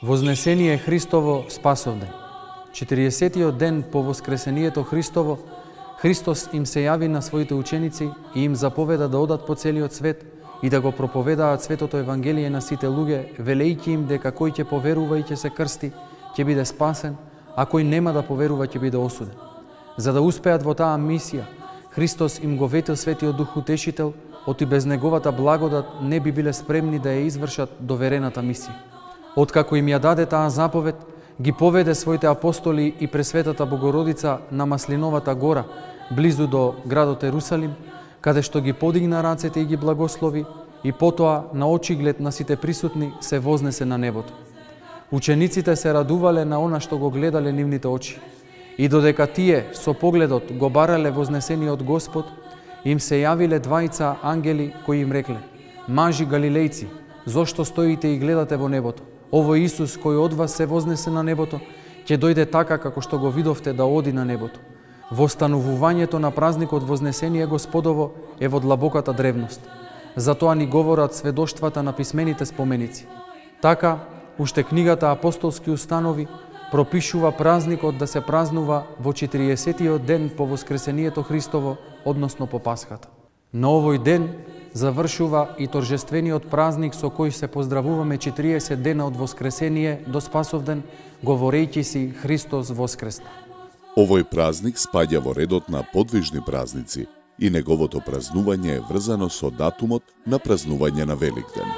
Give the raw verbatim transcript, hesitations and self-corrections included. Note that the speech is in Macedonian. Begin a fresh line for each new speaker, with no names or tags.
Вознесение Христово спасовден. четириесеттиот ден по воскресението Христово, Христос им се јави на своите ученици и им заповеда да одат по целиот свет и да го проповедаат светото Евангелие на сите луѓе, велејќи им дека кој ќе поверува и ќе се крсти, ќе биде спасен, а кој нема да поверува ќе биде осуден. За да успеат во таа мисија, Христос им го ветил Светиот Дух Утешител, оти без неговата благодат не би биле спремни да ја извршат доверената мисија. Откако им ја даде таа заповед, ги поведе своите апостоли и Пресветата Богородица на Маслиновата гора, близу до градот Ерусалим, каде што ги подигна рацете и ги благослови, и потоа на очиглед на сите присутни се вознесе на небото. Учениците се радувале на она што го гледале нивните очи. И додека тие со погледот го барале вознесениот Господ, им се јавиле двајца ангели кои им рекле: „Мажи галилејци, зошто стоите и гледате во небото? Овој Исус кој од вас се вознесе на небото, ќе дојде така како што го видовте да оди на небото." Востанувувањето на празникот Вознесение Господово е во длабоката древност. Затоа ни говорат сведоштвата на писмените споменици. Така, уште книгата Апостолски установи пропишува празникот да се празнува во четириесеттиот ден по Воскресението Христово, односно по Пасхата. На овој ден завршува и торжествениот празник со кој се поздравуваме четириесет дена од Воскресение до Спасовден, говорејќи си Христос воскресна.
Овој празник спаѓа во редот на подвижни празници и неговото празнување е врзано со датумот на празнување на Великден.